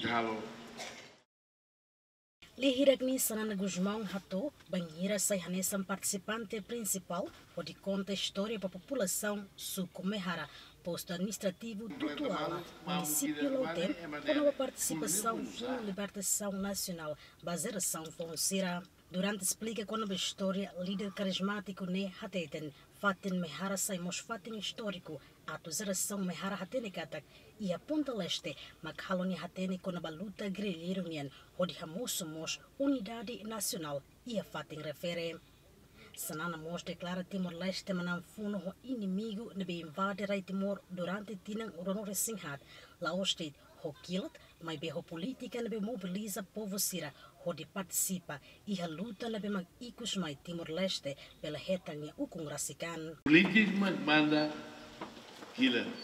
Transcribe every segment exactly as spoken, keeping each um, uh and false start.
Halo. Lee hirak ne'e Xanana Gusmão hato'o, bainhira sai hanesan partisipante prinsipál, hodi konta istória ba populasaun suku Mehara, postu administrativu Tutuala, munisípiu Lautém, kona-ba partisipasaun Funu Libertasaun Nasionál ba jerasaun foun sira. Durante esplika kona-ba istória, líder karizmátiku ne'e hateten, fatin Mehara sai mós fatin istóriku, atu jerasaun Mehara hatene katak, iha Punta Leste, mak halo nia hatene kona-ba luta gerrilleiru nian, hodi hamosu mós unidade nasionál iha fatin refere. Xanana mós deklara Timor-Leste manán funu ho inimigu ne'ebé invade rai Timor durante tinan ruanulu-resin-haat, la'ós de'it ho kilat, maibé ho polítika ne'ebé mobiliza povu sira hodi partisipa iha luta ne'ebé mak ikusmai Timor-Leste bele hetan nia ukun rasik an. Polítika mak manda kilat.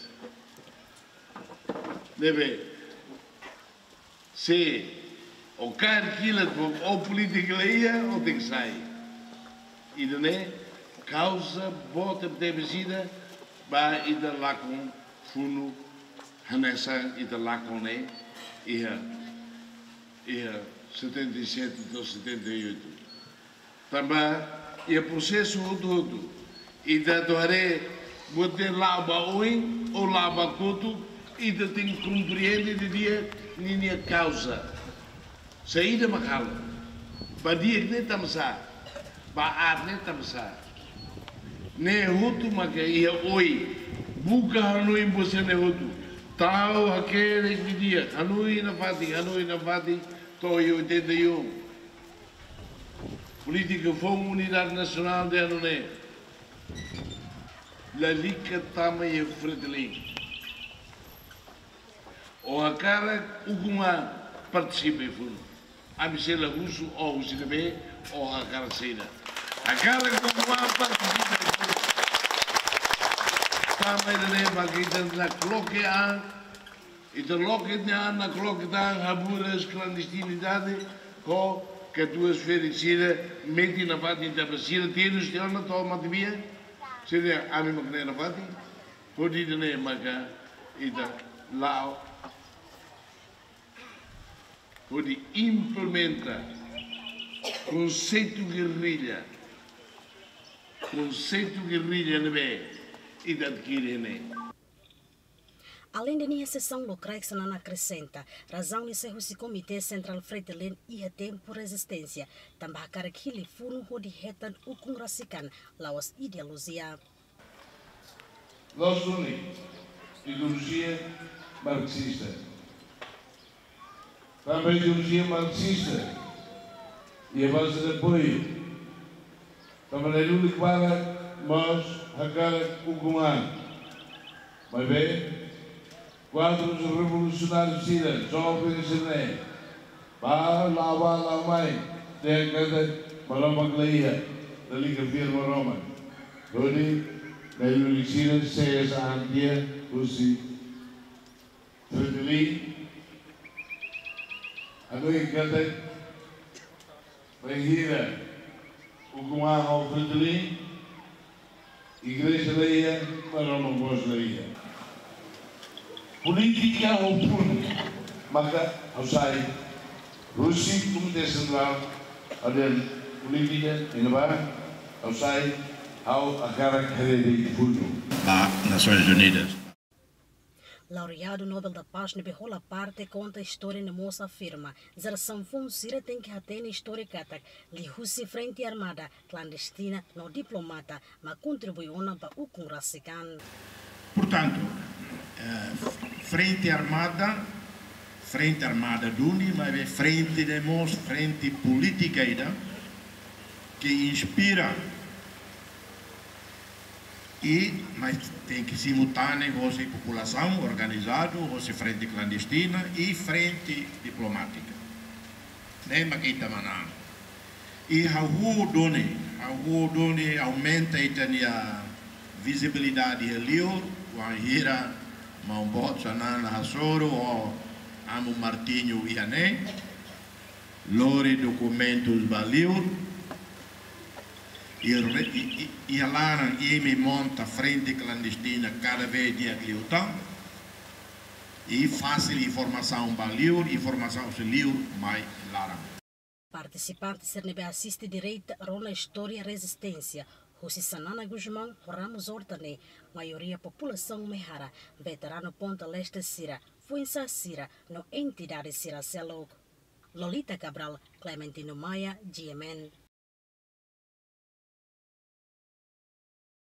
Ne'ebé se o kaer kilat, o polítika la iha, o tenke sai. Ida-ne'e kauza boot tebes ida ba ita lakon funu hanesan ita lakon ne'e iha, iha setenta e sete to'o setenta e oito. Tanba iha prosesu hotu-hotu, ita atu haree buat ne'e la'o ba oin ou la'o ba kotuk, ita tenke komprende didi'ak ninia kauza. Saida mak halo? Ba di'ak ne'e tanbasá? Ba aat ne'e tanbasá? Ne'e hotu maka iha oin. Buka hanoin buat sira-ne'e hotu. Tau hakerek didi'ak, hanoin nafatin, hanoin nafatin, to'o iha oitenta e um. Polítika foun unidade nasionál de ano ne'e. Lalika tama iha Fretilin. O hakarak ukun-an partisipa iha funu. Ami sei la husu o husi ne'ebé, o hakarak saida. Hakarak ukun-an partisipa iha funu. Tama ida-ne'e mak ita nakloke an, ita loke nia an, nakloke tan, haburas klandestinidade, ho katuas ferik sira, metin nafatin tanba sira terus tiha ona to'o matebian, sira ami mak ne'e nafatin, hodi ida-ne'e maka ita la'o hodi implementa konseitu gerrilla, konseitu gerrilla ne'ebé ita adkire ne'e. Aleinde ne'e, sesaun lokraik Xanana akresenta, razaun ne'e sai husi Komité Sentrál Fretilin iha tempu rezisténsia, tanba hakarak hili funu hodi hetan ukun rasik an, la'ós ideolojia. Loos duni, ideolojia marxista. Tanba ideolojia marxista iha baze de apoiu. Tanba ne'e duni klara mós hakarak ukun an. Maibé, kuadrus revolusionáriu sira, joven sira-ne'e, bá la'o bá la'o mai, dehan katak Maromak la iha, lalika fiar Maromak. Hodi, ne'e duni sira, sees an tiha husi Fretilin, hanoin katak bainhira ukun an ho Fretilin, igreja la iha, Maromak mós la iha. Polítika ho funu, maka ha'u sai husi Komité Sentrál, ha'u dehan polítika iha ne'ebá, ha'u sai, ha'u hakarak haree de'it funu. Ba Nasoins Unidas. Laureadu Nobel da Paz ne'ebé hola parte konta istória ne'e mós afirma, jerasaun foun sira tenke hatene istória katak, liuhusi frente armada, klandestina no diplomata, mak kontribui ona ba ukun rasik an. Portantu, eh, frente armada, frente armada duni, maibé frente ne'e mós frente polítika ida, ke inspira i, mas tenke simultáneu hosi populasaun organizadu, hosi frente klandestina i frente diplomátika. Ne'e mak ita manán. I hahú duni, hahú duni aumenta ita-nia vizibilidade iha liur, wainhira maun boot Xanana hasoru ho amu Martinho iha ne'e, lori dokumentus ba liur, i re-, i, i, iha laran imi monta frente klandestina kada vez di'ak liután. I fasil informasaun ba liur, informasaun husi liur mai laran. Partisipante sira ne'ebé asiste direta rona istória rezisténsia husi Xanana Gusmão ho Ramos Horta ne'e, maioria populasaun Mehara, veteranu Ponta Leste sira, foin-sa'e sira no entidade sira seluk. Lolita Cabral, Clementino Maia, G M N.